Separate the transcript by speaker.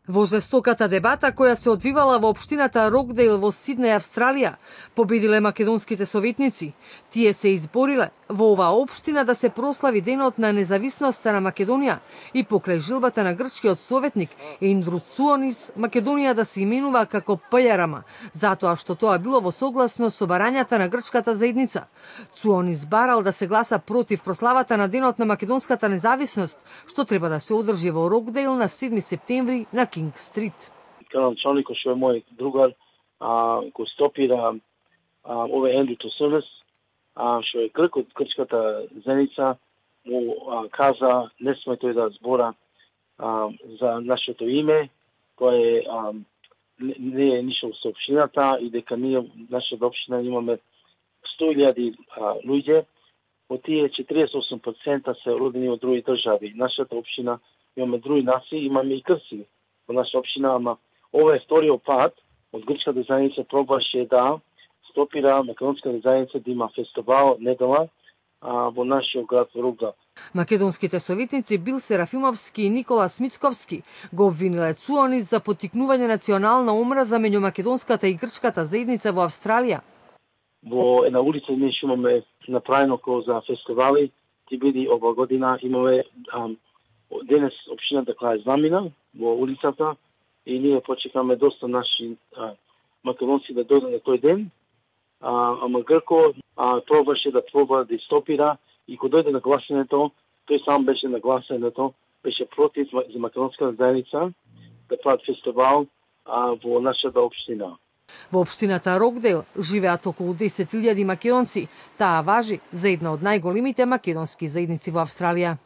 Speaker 1: Во жестоката дебата која се одвивала во општината Рокдейл во Сиднеј, Австралија, победиле македонските советници. Тие се избориле во оваа општина да се прослави денот на независноста на Македонија и покрај жилбата на грчкиот советник Ендру Цуонис, Македонија да се именува како ПЈРМ, затоа што тоа било во согласност со барањата на грчката заедница. Цуонис барал да се гласа против прославата на денот на македонската независност, што треба да се одржи во Рокдейл на 7 септември на Кинг Стрит.
Speaker 2: Градоначалникот што е мој другар, го стопира овој Ендру Цуонис, што е грк од грчката заедница, му каза не сме тој да збора за нашето име, кој не е ништо со општината и дека ние нашата општина имаме 100.000 луѓе, од тие 48% се родени од други држави. Нашата општина имаме други нации, имаме и крци во нашата општина, ама ова е вториот пат од грчката заедница пробаше да стопира македонската заедница да има фестивал недела во нашиот град Рокдейл.
Speaker 1: Македонските советници Бил Серафимовски и Никола Смицковски го обвиниле Цуонис за поттикнување национална омраза меѓу македонската и грчката заедница во Австралија.
Speaker 2: Во една улица ние што имаме направено како за фестивали, ти биди ова година имаме денес општината која замина во улицата и ние почекаме доста наши македонци да дојдат на тој ден. Ама Грко пробаше да стопира и кога дојде на гласањето, тој сам беше на гласањето, беше против за македонската заедница да прават фестивал во нашата општина.
Speaker 1: Во општината Рокдейл живеат околу 10.000 македонци. Таа важи за една од најголемите македонски заедници во Австралија.